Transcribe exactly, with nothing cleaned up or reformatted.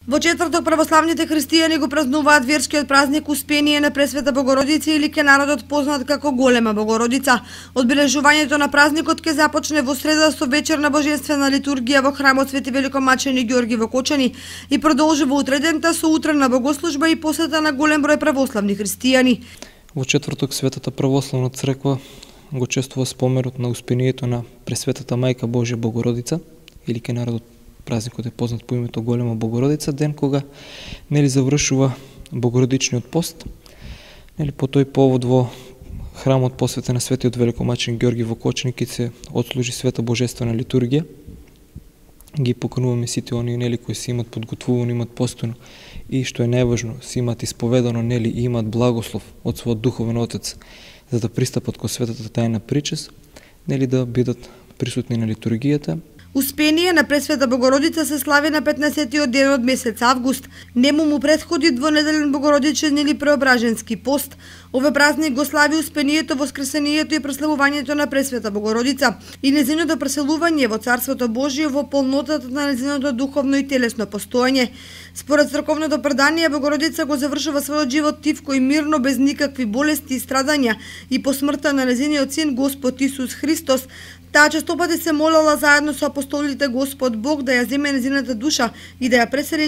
Во четврток православните христијани го празнуваат верскиот празник Успение на Пресвета Богородица или ке народот познат како Голема Богородица. Одбележувањето на празникот ќе започне во среда со вечерна божествена литургија во храмот Свети Великомачени Ѓорги во Кочани и продолжи во утредента со утренна богослужба и посета на голем број православни христијани. Во четврток Светата православна црква го чествува споменот на Успението на Пресветата Мајка Божја Богородица или ке народот празникот е познат по името Голема Богородица, ден кога нели завршува Богородичниот пост. Нели по тој повод во храмот посветен на Светиот Великомачен Ѓорги во Кочани ќе се отслужи света божествена литургија. Ги покануваме сите оние нели кои се имат подготвувано, имат постојано и што е најважно, се имат исповедано нели и имат благослов од својот духовен отец за да пристапат кон светата тајна причест, нели да бидат присутни на литургијата. Успение на Пресвета Богородица се слави на петнаесеттиот ден од месец август. Нему му претходи двонеделен богородичен или преображенски пост. Овој празник го слави Успението, воскресението и прославувањето на Пресвета Богородица и нејзиното преселување во Царството Божие во полнотата на нејзиното духовно и телесно постоење. Според црковното предание, Богородица го завршува својот живот тивко и мирно, без никакви болести и страдања, и по смртта на нејзиниот син Господ Исус Христос. Таа честопати се молела заедно со апостолите Господ Бог да ја земе нејзината душа и да ја пресели